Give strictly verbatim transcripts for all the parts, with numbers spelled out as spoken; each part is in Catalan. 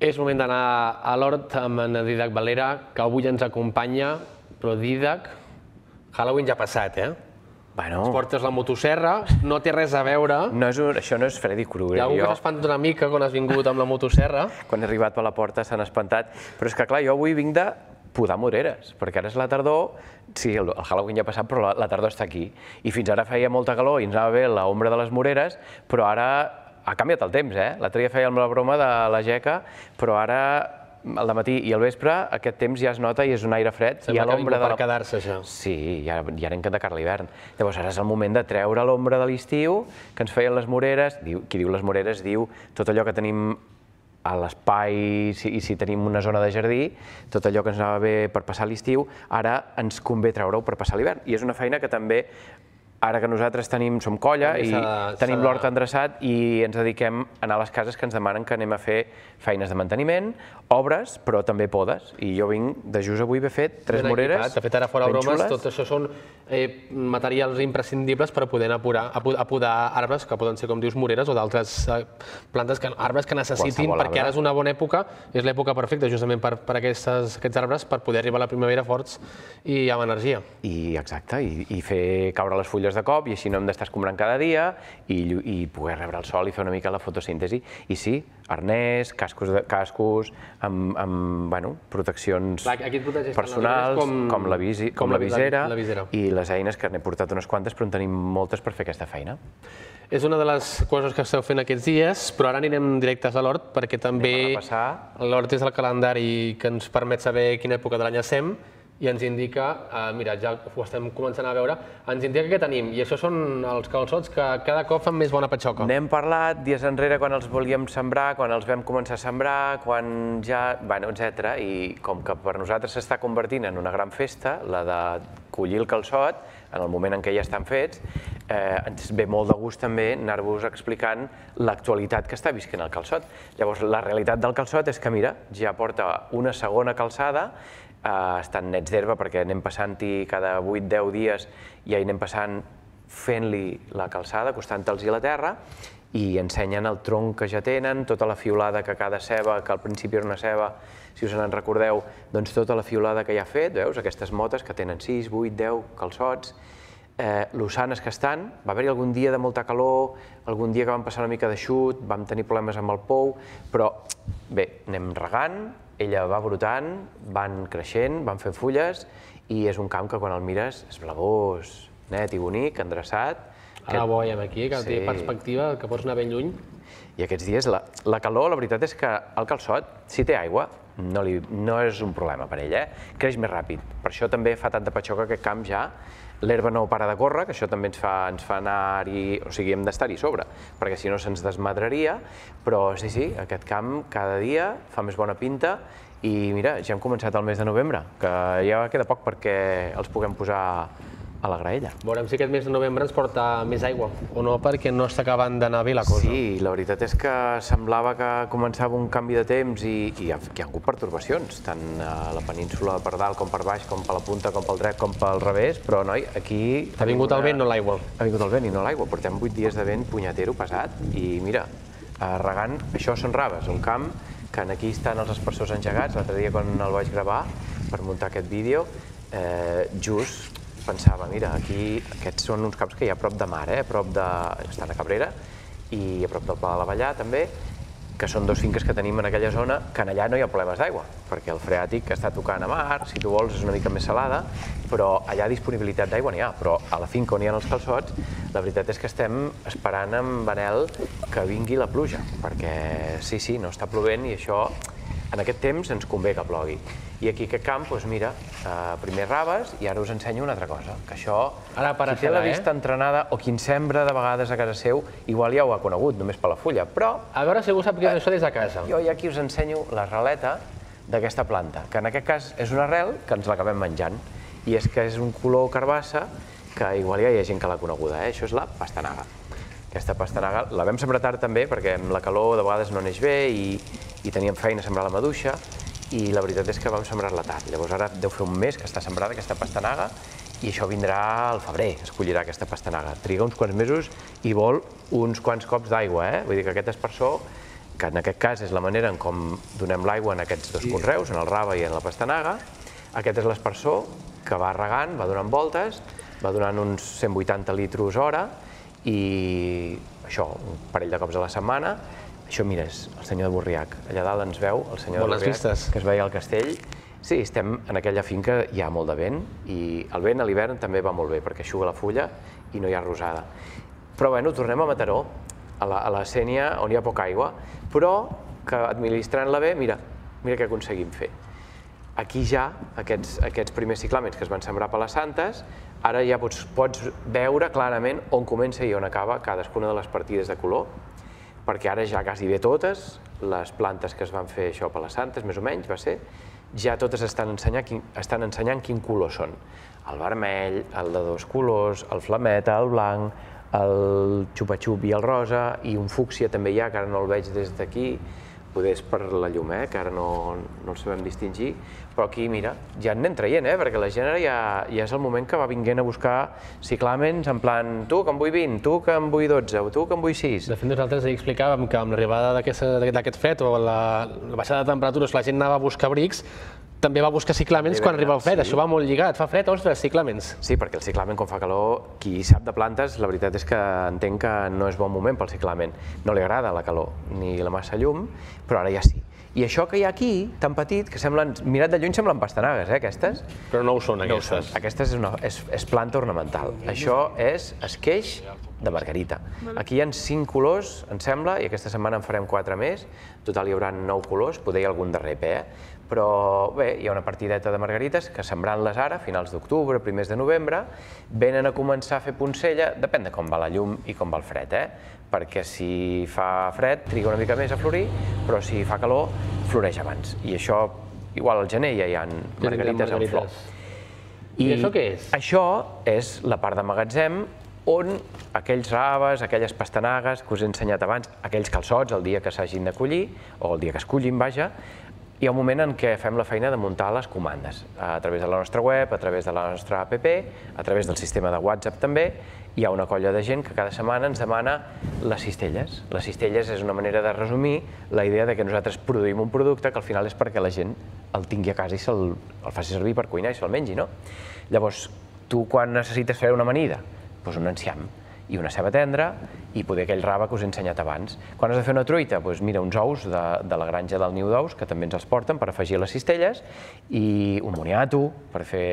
És moment d'anar a l'hort amb en Dídac Valera, que avui ens acompanya, però Dídac, Halloween ja ha passat, eh? Bueno... Ens portes la motosserra, no té res a veure. No és un, això no és Freddy Krueger. Hi ha algú que s'ha espantat una mica quan has vingut amb la motosserra. Quan he arribat per la porta s'han espantat. Però és que, clar, jo avui vinc de podar moreres, perquè ara és la tardor, sí, el, el Halloween ja ha passat, però la, la tardor està aquí. I fins ara feia molta calor i ens anava bé l'ombra de les moreres, però ara ha canviat el temps, eh? L'altre dia fèiem la broma de la geca, però ara al dematí i al vespre aquest temps ja es nota i és un aire fred. Sembla que ha vingut per quedar-se, això. Sí, ja, ja anem de cara a l'hivern. Llavors ara és el moment de treure l'ombra de l'estiu, que ens feien les moreres. Qui diu les moreres diu tot allò que tenim a l'espai i si tenim una zona de jardí, tot allò que ens anava bé per passar l'estiu, ara ens convé treure-ho per passar l'hivern. I és una feina que també, ara que nosaltres tenim, som colla i tenim l'hort endreçat i ens dediquem a anar a les cases que ens demanen que anem a fer feines de manteniment, obres, però també podes. I jo vinc de just avui haver fet tres moreres. De fet, ara fora bromes, tot això són materials imprescindibles per poder anar a podar arbres, que poden ser, com dius, moreres o d'altres plantes, arbres que necessitin, perquè ara és una bona època, és l'època perfecta justament per aquests arbres, per poder arribar a la primavera forts i amb energia. I exacte, i fer caure les fulles de cop, i així no hem d'estar escombrant cada dia i poder rebre el sol i fer una mica la fotosíntesi. I sí, arnès, cascos amb proteccions personals, com la visera i les eines, que n'he portat unes quantes, però en tenim moltes per fer aquesta feina. És una de les coses que esteu fent aquests dies, però ara anirem directes a l'hort, perquè també l'hort és el calendari que ens permet saber quina època de l'any estem, i ens indica, mira, ja ho estem començant a veure, ens indica què tenim, i això són els calçots que cada cop fan més bona patxoca. N'hem parlat dies enrere quan els volíem sembrar, quan els vam començar a sembrar, quan ja... bueno, etcètera. I com que per nosaltres s'està convertint en una gran festa, la de collir el calçot, en el moment en què ja estan fets, ens ve molt de gust també anar-vos explicant l'actualitat que està visquent el calçot. Llavors, la realitat del calçot és que, mira, ja porta una segona calçada, estan nets d'herba perquè anem passant-hi cada vuit deu dies i ja hi anem passant fent-li la calçada, acostant-los-hi a la terra, i ensenyen el tronc que ja tenen, tota la fiolada que cada ceba, que al principi era una ceba, si us en recordeu, doncs tota la fiolada que ja ha fet, veus, aquestes motes que tenen sis, vuit, deu calçots, lo sanes que estan. Va haver-hi algun dia de molta calor, algun dia que vam passar una mica d'eixut, vam tenir problemes amb el pou, però bé, anem regant, ella va brotant, van creixent, van fent fulles, i és un camp que quan el mires és blavós, net i bonic, endreçat. Ara ho veiem aquí, que té perspectiva, que pots anar ben lluny. I aquests dies, la calor, la veritat és que el calçot, si té aigua, no és un problema per ell, creix més ràpid. Per això també fa tanta patxoca aquest camp ja. L'herba no para de córrer, que això també ens fa anar-hi, o sigui, hem d'estar-hi sobre, perquè si no se'ns desmadraria, però sí, sí, aquest camp cada dia fa més bona pinta i mira, ja hem començat el mes de novembre, que ja queda poc perquè els puguem posar a la graella. Veurem si aquest mes de novembre ens porta més aigua o no, perquè no està acabant d'anar bé la cosa. Sí, la veritat és que semblava que començava un canvi de temps i hi ha hagut pertorbacions, tant a la península per dalt com per baix, com per la punta, com pel dret, com pel revés, però noi, aquí... Ha vingut el vent, no l'aigua. Ha vingut el vent i no l'aigua. Portem vuit dies de vent punyatero pesat i mira, regant, això són raves, un camp que aquí estan els aspersors engegats. L'altre dia quan el vaig gravar per muntar aquest vídeo, just pensava, mira, aquí aquests són uns camps que hi ha a prop de mar, a prop de... estan a Cabrera i a prop del Pla de l'Avellà també, que són dos finques que tenim en aquella zona, que allà no hi ha problemes d'aigua, perquè el freàtic està tocant a mar, si tu vols és una mica més salada, però allà disponibilitat d'aigua n'hi ha, però a la finca on hi ha els calçots, la veritat és que estem esperant amb anhel que vingui la pluja, perquè sí, sí, no està plovent i això en aquest temps ens convé que plogui. I aquí aquest camp, doncs mira, primer raves i ara us ensenyo una altra cosa, que això, qui té la vista entrenada o qui en sembra de vegades a casa seu, igual ja ho ha conegut, només per la fulla, però... A veure si algú sap què és això des de casa. Jo ja aquí us ensenyo l'arreleta d'aquesta planta, que en aquest cas és una arrel que ens l'acabem menjant, i és que és un color carbassa que igual ja hi ha gent que l'ha coneguda, això és la pastanaga. Aquesta pastanaga la vam sembrar tard també, perquè amb la calor de vegades no neix bé i teníem feina a sembrar la maduixa, i la veritat és que vam sembrar-la tard. Llavors ara deu fer un mes que està sembrada aquesta pastanaga i això vindrà al febrer, es collirà aquesta pastanaga. Triga uns quants mesos i vol uns quants cops d'aigua, eh? Vull dir que aquest aspersor que en aquest cas és la manera en com donem l'aigua en aquests dos conreus, en el rave i en la pastanaga. Aquest és l'espersor que va regant, va donant voltes, va donant uns cent vuitanta litros hora i això, un parell de cops a la setmana. Això, mira, és el senyor de Borriac. Allà dalt ens veu el senyor de Borriac, que es veia al castell. Sí, estem en aquella finca, hi ha molt de vent i el vent a l'hivern també va molt bé perquè eixuga la fulla i no hi ha rosada. Però bueno, tornem a Mataró, a la, a la sénia on hi ha poca aigua, però que administrant-la bé, mira, mira què aconseguim fer. Aquí ja, aquests, aquests primers ciclàmens que es van sembrar per les Santes, ara ja pots, pots veure clarament on comença i on acaba cadascuna de les partides de color, perquè ara ja quasi bé totes, les plantes que es van fer això per les Santes, més o menys va ser, ja totes estan ensenyant, quin, estan ensenyant quin color són. El vermell, el de dos colors, el flameta, el blanc, el xupa-xup i el rosa, i un fúcsia també hi ha, que ara no el veig des d'aquí, poder és per la llum, eh, que ara no, no el sabem distingir, però aquí, mira, ja en anem traient, eh, perquè la gent ara ja, ja és el moment que va vinguent a buscar ciclàmens en plan, tu que en vull vint, tu que en vull dotze, o tu que en vull sis. De fet, nosaltres ahir explicàvem que amb l'arribada d'aquest fred o la, la baixada de temperatures la gent anava a buscar abrics, també va buscar ciclàmens quan arriba el fred, això va molt lligat, fa fred, ostres, ciclàmens. Sí, perquè el ciclamen quan fa calor, qui sap de plantes, la veritat és que entenc que no és bon moment pel ciclamen. No li agrada la calor ni la massa llum, però ara ja sí. I això que hi ha aquí, tan petit, que semblen, mirat de lluny semblen pastanagues, eh, aquestes? Però no ho són, aquestes. No ho són. Aquestes és, una, és, és planta ornamental. Això és esqueix de margarita. Aquí hi ha cinc colors, em sembla, i aquesta setmana en farem quatre més. En total hi haurà nou colors, poder hi ha algun darrer, eh? Però bé, hi ha una partideta de margarites que sembrant-les ara, finals d'octubre, primers de novembre, venen a començar a fer poncella, depèn de com va la llum i com va el fred, eh? Perquè si fa fred triga una mica més a florir, però si fa calor floreix abans. I això, igual al gener ja hi ha margarites en flor. I això què és? Això és la part de magatzem on aquells raves, aquelles pastanagues que us he ensenyat abans, aquells calçots el dia que s'hagin de collir, o el dia que es cullin, vaja, hi ha un moment en què fem la feina de muntar les comandes, a través de la nostra web, a través de la nostra app, a través del sistema de WhatsApp també. Hi ha una colla de gent que cada setmana ens demana les cistelles. Les cistelles és una manera de resumir la idea de que nosaltres produïm un producte que al final és perquè la gent el tingui a casa i se'l faci servir per cuinar i se'l mengi, no? Llavors, tu quan necessites fer una amanida? Doncs un enciam i una ceba tendra i poder aquell rave que us he ensenyat abans. Quan has de fer una truita? Doncs mira, uns ous de, de la granja del niu d'ous, que també ens els porten per afegir a les cistelles, i un moniato per fer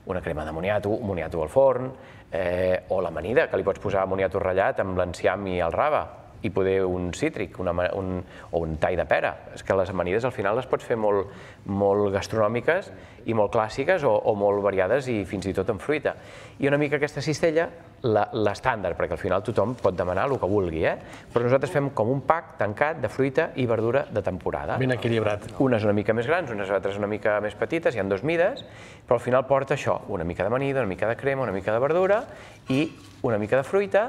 una crema de moniato, un moniato al forn, eh, o l'amanida, que li pots posar moniato ratllat amb l'enciam i el rave, i poder un cítric una, un, o un tall de pera. És que les amanides al final les pots fer molt, molt gastronòmiques i molt clàssiques o, o molt variades i fins i tot amb fruita. I una mica aquesta cistella, l'estàndard, perquè al final tothom pot demanar el que vulgui, eh? Però nosaltres fem com un pack tancat de fruita i verdura de temporada. Ben equilibrat. Unes una mica més grans, unes altres una mica més petites, hi ha dues mides, però al final porta això, una mica d'amanida, una mica de crema, una mica de verdura i una mica de fruita,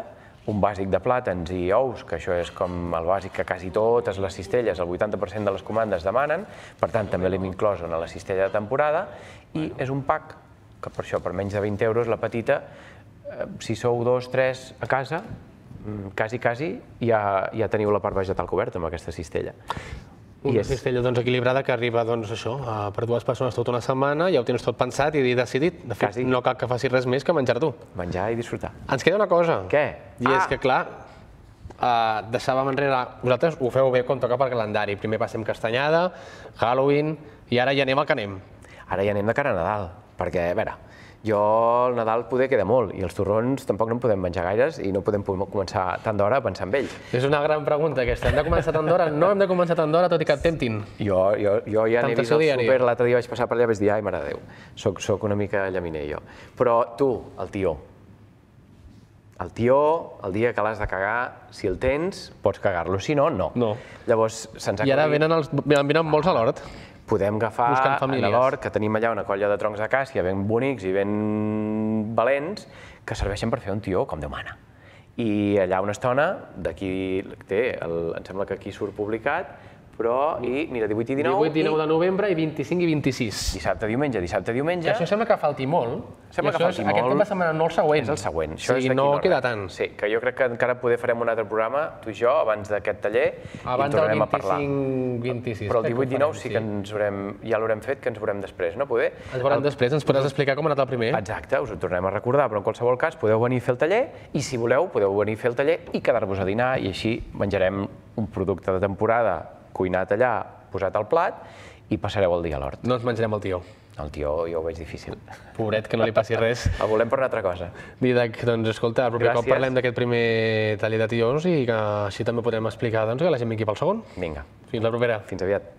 un bàsic de plàtans i ous, que això és com el bàsic que quasi totes les cistelles, el vuitanta per cent de les comandes demanen, per tant també l'hem inclòs en la cistella de temporada, i és un pack que per això, per menys de vint euros, la petita, si sou dos, tres a casa, quasi, quasi, ja, ja teniu la part vegetal coberta amb aquesta cistella. Una cistella doncs, equilibrada que arriba doncs, això, per dues persones tota una setmana, ja ho tens tot pensat i decidit. De fet, no cal que facis res més que menjar tu. Menjar i disfrutar. Ens queda una cosa. Què? I és que, clar, deixàvem enrere... Vosaltres ho feu bé com toca pel calendari. Primer passem Castanyada, Halloween, i ara ja anem al que anem. Ara ja anem de cara a Nadal, perquè, a veure, jo el Nadal poder queda molt i els torrons tampoc no en podem menjar gaires i no podem començar tant d'hora a pensar en ells. És una gran pregunta aquesta. Hem de començar tant d'hora? No hem de començar tant d'hora, tot i que et temptin. Jo, jo, jo ja n'he vist al súper, l'altre dia vaig passar per allà i vaig dir, ai, mare de Déu, soc, soc una mica llaminer jo. Però tu, el tió. El tió, el dia que l'has de cagar, si el tens, pots cagar-lo, si no, no. No. Llavors, se'ns ha I ara venen, els, venen molts a l'hort. Podem agafar a l'hort, que tenim allà una colla de troncs de càssia ben bonics i ben valents, que serveixen per fer un tió com Déu mana. I allà una estona, d'aquí té, em sembla que aquí surt publicat, però, i mira, divuit i dinou... divuit i dinou de novembre i vint-i-cinc i vint-i-sis. Dissabte, diumenge, dissabte, diumenge... Que això sembla que falti molt. Sembla que falti molt. Aquest cap de setmana, no el següent. És el següent. O sigui, no queda tant. Sí, que jo crec que encara poder farem un altre programa, tu i jo, abans d'aquest taller, i en tornarem a parlar. Abans del vint-i-cinc vint-i-sis. Però el divuit dinou sí que ens veurem, ja l'haurem fet, que ens veurem després, no? Poder... Ens veurem després, ens podràs explicar com ha anat el primer. Exacte, us ho tornem a recordar, però en qualsevol cas podeu venir a fer el taller i si voleu podeu venir a fer el taller i quedar-vos a dinar i així menjarem un producte de temporada cuinat allà, posat al plat i passareu el dia a l'hort. No ens menjarem el tió. El tió jo ho veig difícil. Pobret, que no li passi res. El volem per una altra cosa. Didac, doncs escolta, el proper cop parlem d'aquest primer taller de tiós i que així també podem explicar que la gent vingui pel segon. Vinga. Fins la propera. Fins aviat.